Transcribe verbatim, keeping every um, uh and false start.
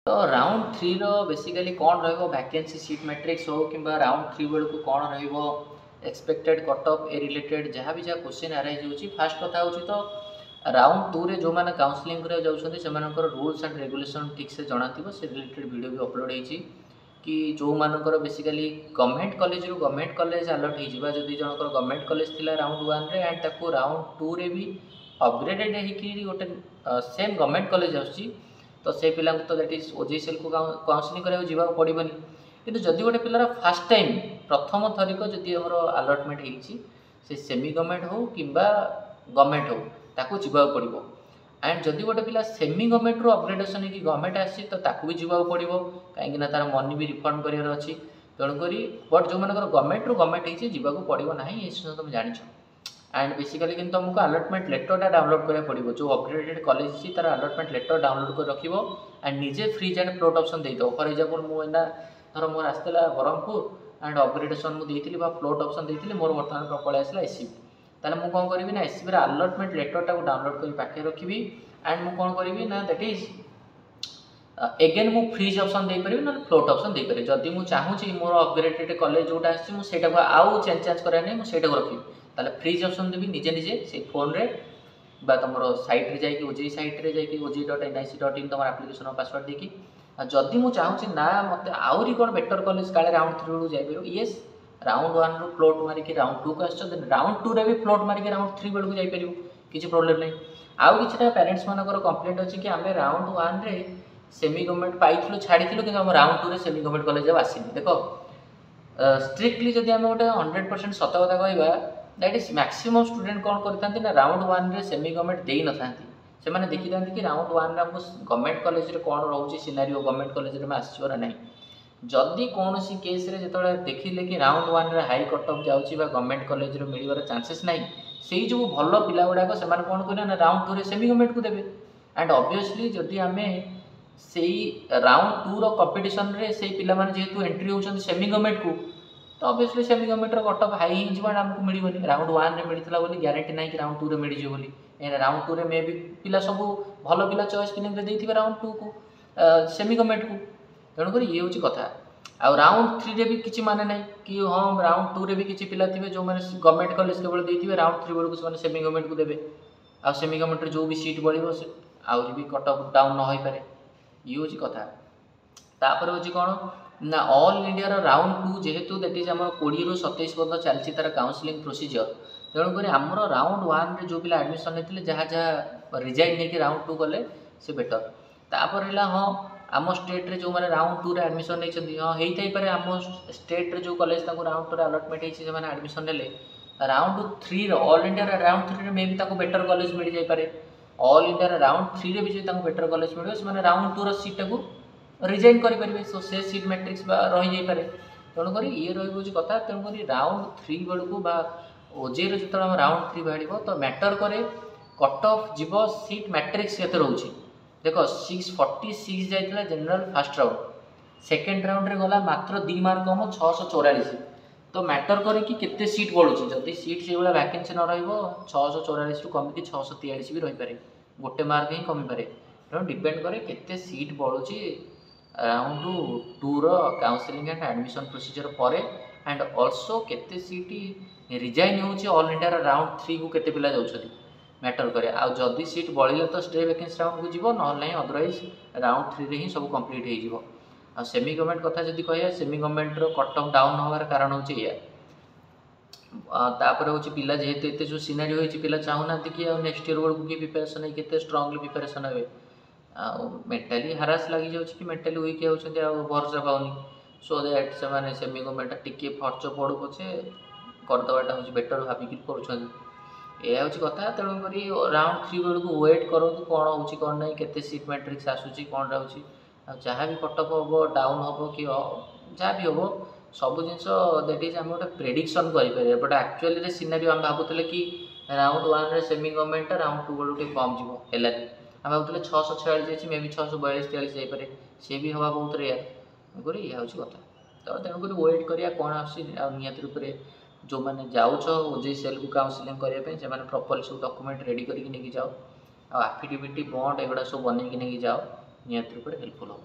ତ round ଥ୍ରୀର basically କ'ଣ ରହିବ ଭ୍ୟାକେନ୍ସି ସିଟ୍ ମ୍ୟାଟ୍ରିକ୍ସ ହେଉ କିମ୍ବା ରାଉଣ୍ଡ ଥ୍ରୀ ବେଳକୁ କ'ଣ ରହିବ ଏକ୍ସପେକ୍ଟେଡ୍ କଟ୍ ଅଫ୍ ଏ ରିଲେଟେଡ୍ ଯାହା ବି ଯାହା କୋଶ୍ଚିନ୍ ଆରାଇଜ୍ ହେଉଛି ଫାର୍ଷ୍ଟ କଥା ହେଉଛି ତ ରାଉଣ୍ଡ ଟୁରେ ଯେଉଁମାନେ କାଉନସିଲିଂ କରିବାକୁ ଯାଉଛନ୍ତି ସେମାନଙ୍କର ରୁଲ୍ସ ଆଣ୍ଡ ରେଗୁଲେସନ୍ ଠିକ୍ସେ ଜଣାଥିବ ସେ ରିଲେଟେଡ୍ ଭିଡ଼ିଓ ବି ଅପଲୋଡ଼ ହେଇଛି କି ଯେଉଁମାନଙ୍କର ବେସିକାଲି ଗଭର୍ଣ୍ଣମେଣ୍ଟ କଲେଜରୁ ଗଭର୍ଣ୍ଣମେଣ୍ଟ କଲେଜ ଆଲଟ୍ ହେଇଯିବା ଯଦି ଜଣଙ୍କର ଗଭର୍ଣ୍ଣମେଣ୍ଟ କଲେଜ ଥିଲା ରାଉଣ୍ଡ ୱାନ୍ରେ ଆଣ୍ଡ ତାକୁ ରାଉଣ୍ଡ ଟୁରେ ବି ଅପଗ୍ରେଡେଡ଼ ହେଇକି ଗୋଟେ ସେମ୍ ଗଭର୍ଣ୍ଣମେଣ୍ଟ କଲେଜ ଆସୁଛି ତ ସେ ପିଲାଙ୍କୁ ତ that is ଓଜେଇ ସେଲ୍କୁ କାଉନସିଲିଂ କରିବାକୁ ଯିବାକୁ ପଡ଼ିବନି କିନ୍ତୁ ଯଦି ଗୋଟେ ପିଲାର ଫାର୍ଷ୍ଟ ଟାଇମ୍ ପ୍ରଥମ ଥରିକ ଯଦି ଆମର ଆଲଟମେଣ୍ଟ ହେଇଛି ସେ ସେମି ଗଭର୍ଣ୍ଣମେଣ୍ଟ ହେଉ କିମ୍ବା ଗଭର୍ଣ୍ଣମେଣ୍ଟ ହେଉ ତାକୁ ଯିବାକୁ ପଡ଼ିବ ଆଣ୍ଡ ଯଦି ଗୋଟେ ପିଲା ସେମି ଗଭର୍ଣ୍ଣମେଣ୍ଟରୁ ଅପଗ୍ରେଡେସନ୍ ହେଇକି ଗଭର୍ଣ୍ଣମେଣ୍ଟ ଆସିଛି ତ ତାକୁ ବି ଯିବାକୁ ପଡ଼ିବ କାହିଁକିନା ତା'ର ମନି ବି ରିଫଣ୍ଡ କରିବାର ଅଛି ତେଣୁକରି ବଟ୍ ଯେଉଁମାନଙ୍କର ଗଭର୍ଣ୍ଣମେଣ୍ଟରୁ ଗଭର୍ଣ୍ଣମେଣ୍ଟ ହେଇଛି ଯିବାକୁ ପଡ଼ିବ ନାହିଁ ଏ ସବୁ ତୁମେ ଜାଣିଛ ଆଣ୍ଡ ବେସିକାଲି କିନ୍ତୁ ତୁମକୁ ଆଲଟମେଣ୍ଟ ଲେଟରଟା ଡାଉନଲୋଡ଼ କରିବାକୁ ପଡ଼ିବ ଯେଉଁ ଅପଗ୍ରେଡେଡ଼ କଲେଜ ଅଛି ତା'ର ଆଲଟମେଣ୍ଟ ଲେଟର ଡାଉନଲୋଡ଼ କରି ରଖିବ ଆଣ୍ଡ ନିଜେ ଫ୍ରିଜ୍ ଆଣ୍ଡ ଫ୍ଲୋଟ୍ ଅପସନ୍ ଦେଇଦେବ ଫର୍ ଏକ୍ଜାମ୍ପଲ୍ ମୁଁ ଏଇନା ଧର ମୋର ଆସିଥିଲା ବ୍ରହ୍ମପୁର ଆଣ୍ଡ ଅପଗ୍ରେଡେସନ୍ ମୁଁ ଦେଇଥିଲି ବା ଫ୍ଲୋଟ୍ ଅପସନ୍ ଦେଇଥିଲି ମୋର ବର୍ତ୍ତମାନ ପଳେଇ ଆସିଲା ଏସ୍ ସି ବି ତାହେଲେ ମୁଁ କ'ଣ କରିବି ନା ଏସ୍ ସି ବିର ଆଲଟମେଣ୍ଟ ଲେଟରଟାକୁ ଡାଉନଲୋଡ଼ କରି ପାଖରେ ରଖିବି ଆଣ୍ଡ ମୁଁ କ'ଣ କରିବି ନା that is again ମୁଁ ଫ୍ରିଜ୍ ଅପସନ୍ ଦେଇପାରିବି ନହେଲେ ଫ୍ଲୋଟ୍ ଅପସନ୍ ଦେଇପାରିବି ଯଦି ମୁଁ ଚାହୁଁଛି ମୋର ଅପଗ୍ରେଡେଡ଼ କଲେଜ ଯେଉଁଟା ଆସିଛି ମୁଁ ସେଇଟାକୁ ଆଉ ଚେଞ୍ଜ ଚାଞ୍ଜ କରିବାର ନାହିଁ ମୁଁ ସେଇଟାକୁ ରଖିବି ତାହେଲେ ଫ୍ରିଜ୍ ଅପସନ୍ ଦେବି ନିଜେ ନିଜେ ସେଇ ଫୋନ୍ରେ ବା ତୁମର ସାଇଟ୍ରେ ଯାଇକି ଓଜେଇ ସାଇଟ୍ରେ ଯାଇକି OJEE dot N I C dot in ତୁମର ଆପ୍ଲିକେସନ୍ ପାସୱାର୍ଡ଼ ଦେଇକି ଆଉ ଯଦି ମୁଁ ଚାହୁଁଛି ନା ମୋତେ ଆହୁରି କ'ଣ ବେଟର୍ କଲେଜ କାଳେ ରାଉଣ୍ଡ ଥ୍ରୀ ବେଳକୁ ଯାଇପାରିବ ୟେସ୍ ରାଉଣ୍ଡ ୱାନ୍ରୁ ଫ୍ଲୋଟ୍ ମାରିକି ରାଉଣ୍ଡ ଟୁକୁ ଆସିଛ ଦେନ୍ ରାଉଣ୍ଡ ଟୁରେ ବି ଫ୍ଲୋଟ୍ ମାରିକି ରାଉଣ୍ଡ ଥ୍ରୀ ବେଳକୁ ଯାଇପାରିବ କିଛି ପ୍ରୋବ୍ଲେମ୍ ନାହିଁ ଆଉ କିଛିଟା ପ୍ୟାରେଣ୍ଟସ୍ ମାନଙ୍କର କମ୍ପ୍ଲେଣ୍ଟ ଅଛି କି ଆମେ ରାଉଣ୍ଡ ୱାନ୍ରେ ସେମି ଗଭର୍ଣ୍ଣମେଣ୍ଟ ପାଇଥିଲୁ ଛାଡ଼ିଥିଲୁ କିନ୍ତୁ ଆମ ରାଉଣ୍ଡ ଟୁରେ ସେମି ଗଭର୍ଣ୍ଣମେଣ୍ଟ କଲେଜ ଆଉ ଆସିନି ଦେଖ ଷ୍ଟ୍ରିକ୍ଟଲି ଯଦି ଆମେ ଗୋଟେ ହଣ୍ଡ୍ରେଡ଼ ପରସେଣ୍ଟ ସତ କଥା କହିବା that is maximum student କ'ଣ କରିଥାନ୍ତି ନା ରାଉଣ୍ଡ ୱାନ୍ରେ ସେମି ଗଭର୍ଣ୍ଣମେଣ୍ଟ ଦେଇନଥାନ୍ତି ସେମାନେ ଦେଖିଥାନ୍ତି କି ରାଉଣ୍ଡ ୱାନ୍ରେ ଆମକୁ ଗଭର୍ଣ୍ଣମେଣ୍ଟ କଲେଜରେ କ'ଣ ରହୁଛି ସିନାରିଓ ଗଭର୍ଣ୍ଣମେଣ୍ଟ କଲେଜରେ ଆମେ ଆସିଯିବ ନା ନାହିଁ ଯଦି କୌଣସି କେସ୍ରେ ଯେତେବେଳେ ଦେଖିଲେ କି ରାଉଣ୍ଡ ୱାନ୍ରେ ହାଇ କଟ୍ ଅଫ୍ ଯାଉଛି ବା ଗଭର୍ଣ୍ଣମେଣ୍ଟ କଲେଜରେ ମିଳିବାର ଚାନ୍ସେସ୍ ନାହିଁ ସେଇ ଯେଉଁ ଭଲ ପିଲା ଗୁଡ଼ାକ ସେମାନେ କ'ଣ କରିବେ ନା ରାଉଣ୍ଡ ଟୁରେ ସେମି ଗଭର୍ଣ୍ଣମେଣ୍ଟକୁ ଦେବେ ଆଣ୍ଡ ଅବଭିୟସଲି ଯଦି ଆମେ ସେଇ ରାଉଣ୍ଡ ଟୁର କମ୍ପିଟିସନରେ ସେଇ ପିଲାମାନେ ଯେହେତୁ ଏଣ୍ଟ୍ରି ହେଉଛନ୍ତି ସେମି ଗଭର୍ଣ୍ଣମେଣ୍ଟକୁ ତ ଅବଭିୟସଲି ସେମି ଗଭର୍ଣ୍ଣମେଣ୍ଟର କଟ୍ ଅଫ୍ ହାଇ ହେଇଯିବ ଆଣ୍ଡ ଆମକୁ ମିଳିବନି ରାଉଣ୍ଡ ୱାନ୍ରେ ମିଳିଥିଲା ବୋଲି ଗ୍ୟାରେଣ୍ଟି ନାହିଁ କି ରାଉଣ୍ଡ ଟୁରେ ମିଳିଯିବ ବୋଲି କାହିଁକିନା ରାଉଣ୍ଡ ଟୁରେ ମେ ବି ପିଲା ସବୁ ଭଲ ପିଲା ଚଏସ୍ ଫିଲିଂରେ ଦେଇଥିବେ ରାଉଣ୍ଡ ଟୁକୁ ସେମି ଗଭର୍ଣ୍ଣମେଣ୍ଟକୁ ତେଣୁକରି ଇଏ ହେଉଛି କଥା ଆଉ ରାଉଣ୍ଡ ଥ୍ରୀରେ ବି କିଛି ମାନେ ନାହିଁ କି ହଁ ରାଉଣ୍ଡ ଟୁରେ ବି କିଛି ପିଲା ଥିବେ ଯେଉଁମାନେ ଗଭର୍ଣ୍ଣମେଣ୍ଟ କଲେଜ କେବଳ ଦେଇଥିବେ ରାଉଣ୍ଡ ଥ୍ରୀ ବେଳକୁ ସେମାନେ ସେମି ଗଭର୍ଣ୍ଣମେଣ୍ଟକୁ ଦେବେ ଆଉ ସେମି ଗଭର୍ଣ୍ଣମେଣ୍ଟରେ ଯେଉଁ ବି ସିଟ୍ ବଳିବ ସେ ଆହୁରି ବି କଟ୍ ଅଫ୍ ଡାଉନ୍ ନ ହୋଇପାରେ ଇଏ ହେଉଛି କଥା ତାପରେ ହେଉଛି କ'ଣ ନା ଅଲ୍ ଇଣ୍ଡିଆର ରାଉଣ୍ଡ ଟୁ ଯେହେତୁ that is ଆମର କୋଡ଼ିଏରୁ ସତେଇଶ ପର୍ଯ୍ୟନ୍ତ ଚାଲିଛି ତା'ର କାଉନସିଲିଂ ପ୍ରୋସିଜିଅର ତେଣୁକରି ଆମର ରାଉଣ୍ଡ ୱାନ୍ରେ ଯେଉଁ ପିଲା ଆଡ଼ମିସନ୍ ନେଇଥିଲେ ଯାହା ଯାହା ରିଜାଇନ୍ ନେଇକି ରାଉଣ୍ଡ ଟୁ କଲେ ସେ ବେଟର୍ ତାପରେ ହେଲା ହଁ ଆମ ଷ୍ଟେଟ୍ରେ ଯେଉଁମାନେ ରାଉଣ୍ଡ ଟୁରେ ଆଡ଼ମିସନ୍ ନେଇଛନ୍ତି ହଁ ହେଇଥାଇପାରେ ଆମ ଷ୍ଟେଟ୍ରେ ଯେଉଁ କଲେଜ ତାଙ୍କୁ ରାଉଣ୍ଡ ଟୁରେ ଆଲଟମେଣ୍ଟ ହେଇଛି ସେମାନେ ଆଡ଼ମିସନ୍ ନେଲେ ରାଉଣ୍ଡ ଥ୍ରୀର ଅଲ୍ ଇଣ୍ଡିଆର ରାଉଣ୍ଡ ଥ୍ରୀରେ ମେ ବି ତାଙ୍କୁ ବେଟର୍ କଲେଜ ମିଳିଯାଇପାରେ ଅଲ୍ ଇଣ୍ଡିଆର ରାଉଣ୍ଡ ଥ୍ରୀରେ ବି ଯଦି ତାଙ୍କୁ ବେଟର୍ କଲେଜ ମିଳିବ ସେମାନେ ରାଉଣ୍ଡ ଟୁର ସିଟ୍ଟାକୁ ରିଜାଇନ୍ କରିପାରିବେ ସୋ ସେ ସିଟ୍ ମ୍ୟାଟ୍ରିକ୍ସ ବା ରହିଯାଇପାରେ ତେଣୁକରି ଇଏ ରହିବ ହେଉଛି କଥା ତେଣୁକରି ରାଉଣ୍ଡ ଥ୍ରୀ ବେଳକୁ ବା ଓଜେଇର ଯେତେବେଳେ ଆମ ରାଉଣ୍ଡ ଥ୍ରୀ ବାହାରିବ ତ ମ୍ୟାଟର୍ କରେ କଟ୍ ଅଫ୍ ଯିବ ସିଟ୍ ମ୍ୟାଟ୍ରିକ୍ସ କେତେ ରହୁଛି ଦେଖ ସିକ୍ସ ଫର୍ଟି ସିକ୍ସ ଯାଇଥିଲା ଜେନେରାଲ ଫାର୍ଷ୍ଟ ରାଉଣ୍ଡ ସେକେଣ୍ଡ ରାଉଣ୍ଡରେ ଗଲା ମାତ୍ର ଦୁଇ ମାର୍କ କମ ଛଅଶହ ଚଉରାଳିଶ ତ ମ୍ୟାଟର୍ କରେ କି କେତେ ସିଟ୍ ବଳୁଛି ଯଦି ସିଟ୍ ସେଇଭଳିଆ ଭ୍ୟାକେନ୍ସି ନ ରହିବ ଛଅଶହ ଚଉରାଳିଶରୁ କମିକି ଛଅଶହ ତେୟାଳିଶ ବି ରହିପାରେ ଗୋଟେ ମାର୍କ ହିଁ କମିପାରେ ତେଣୁ ଡିପେଣ୍ଡ କରେ କେତେ ସିଟ୍ ବଳୁଛି round tour counselling and admission procedure ପରେ ଆଣ୍ଡ ଅଲସୋ କେତେ ସିଟ୍ ରିଜାଇନ୍ ହେଉଛି ଅଲ୍ ଇଣ୍ଡିଆର ରାଉଣ୍ଡ ଥ୍ରୀକୁ କେତେ ପିଲା ଯାଉଛନ୍ତି ମ୍ୟାଟର୍ କରେ ଆଉ ଯଦି ସିଟ୍ ବଳିଲେ ତ ଷ୍ଟ୍ରେ ଭ୍ୟାକେନ୍ସି ରାଉଣ୍ଡକୁ ଯିବ ନହେଲେ ନାହିଁ ଅଦରୱାଇଜ୍ ରାଉଣ୍ଡ ଥ୍ରୀରେ ହିଁ ସବୁ କମ୍ପ୍ଲିଟ୍ ହେଇଯିବ ଆଉ ସେମି ଗଭର୍ଣ୍ଣମେଣ୍ଟ କଥା ଯଦି କହିବା ସେମି ଗଭର୍ଣ୍ଣମେଣ୍ଟର କଟ୍ ଅଫ୍ ଡାଉନ୍ ହେବାର କାରଣ ହେଉଛି ଏଇଆ ତାପରେ ହେଉଛି ପିଲା ଯେହେତୁ ଏତେ ଯେଉଁ ସିନାରିଓ ହେଇଛି ପିଲା ଚାହୁଁନାହାନ୍ତି କି ଆଉ ନେକ୍ସଟ ଇୟର୍ ବେଳକୁ କିଏ ପ୍ରିପାରେସନ୍ ହେଇକି କେତେ ଷ୍ଟ୍ରଙ୍ଗଲି ପ୍ରିପାରେସନ୍ ହେବେ ଆଉ ମେଣ୍ଟାଲି ହାରାସ ଲାଗିଯାଉଛି କି ମେଣ୍ଟାଲି ୱିକ୍ ହେଉଛନ୍ତି ଆଉ ଭରସା ପାଉନି ସୋ that ସେମାନେ ସେମି ଗଭର୍ଣ୍ଣମେଣ୍ଟଟା ଟିକେ ଖର୍ଚ୍ଚ ପଡ଼ୁ ପଛେ କରିଦେବାଟା ହେଉଛି ବେଟର୍ ଭାବିକି କରୁଛନ୍ତି ଏଇଆ ହେଉଛି କଥା ତେଣୁକରି ରାଉଣ୍ଡ ଥ୍ରୀ ବେଳକୁ ୱେଟ୍ କରନ୍ତୁ କ'ଣ ହେଉଛି କ'ଣ ନାହିଁ କେତେ ସିଟ୍ ମ୍ୟାଟ୍ରିକ୍ସ ଆସୁଛି କ'ଣ ରହୁଛି ଆଉ ଯାହା ବି କଟ୍ ଅଫ୍ ହେବ ଡାଉନ୍ ହେବ କି ଯାହା ବି ହେବ ସବୁ ଜିନିଷ that is ଆମେ ଗୋଟେ ପ୍ରେଡ଼ିକ୍ସନ୍ କରିପାରିବା ବଟ୍ ଆକ୍ଚୁଆଲିରେ ସିନାରିଓ ଆମେ ଭାବୁଥିଲେ କି ରାଉଣ୍ଡ ୱାନ୍ରେ ସେମି ଗଭର୍ଣ୍ଣମେଣ୍ଟଟା ରାଉଣ୍ଡ ଟୁ ବେଳକୁ ଟିକେ କମ୍ ଯିବ ହେଲାନି ଆମେ ଭାବୁଥିଲେ ଛଅଶହ ଛୟାଳିଶ ଅଛି ମେ ବି ଛଅଶହ ବୟାଳିଶ ତେୟାଳିଶ ଯାଇପାରେ ସିଏ ବି ହେବା ବହୁତ ରେୟାର ତେଣୁକରି ଏଇଆ ହେଉଛି କଥା ତ ତେଣୁକରି ୱେଟ୍ କରିବା କ'ଣ ଆସୁଛି ଆଉ ନିହାତି ରୂପରେ ଯେଉଁମାନେ ଯାଉଛ ଓଜେଇ ସେଲ୍କୁ କାଉନସିଲିଂ କରିବା ପାଇଁ ସେମାନେ ପ୍ରପରଲି ସବୁ ଡକୁମେଣ୍ଟ ରେଡ଼ି କରିକି ନେଇକି ଯାଅ ଆଉ ଆଫିଡେଭିଟ୍ ବଣ୍ଡ ଏଗୁଡ଼ା ସବୁ ବନେଇକି ନେଇକି ଯାଅ ନିହାତି ରୂପରେ ହେଲ୍ପଫୁଲ୍ ହେବ।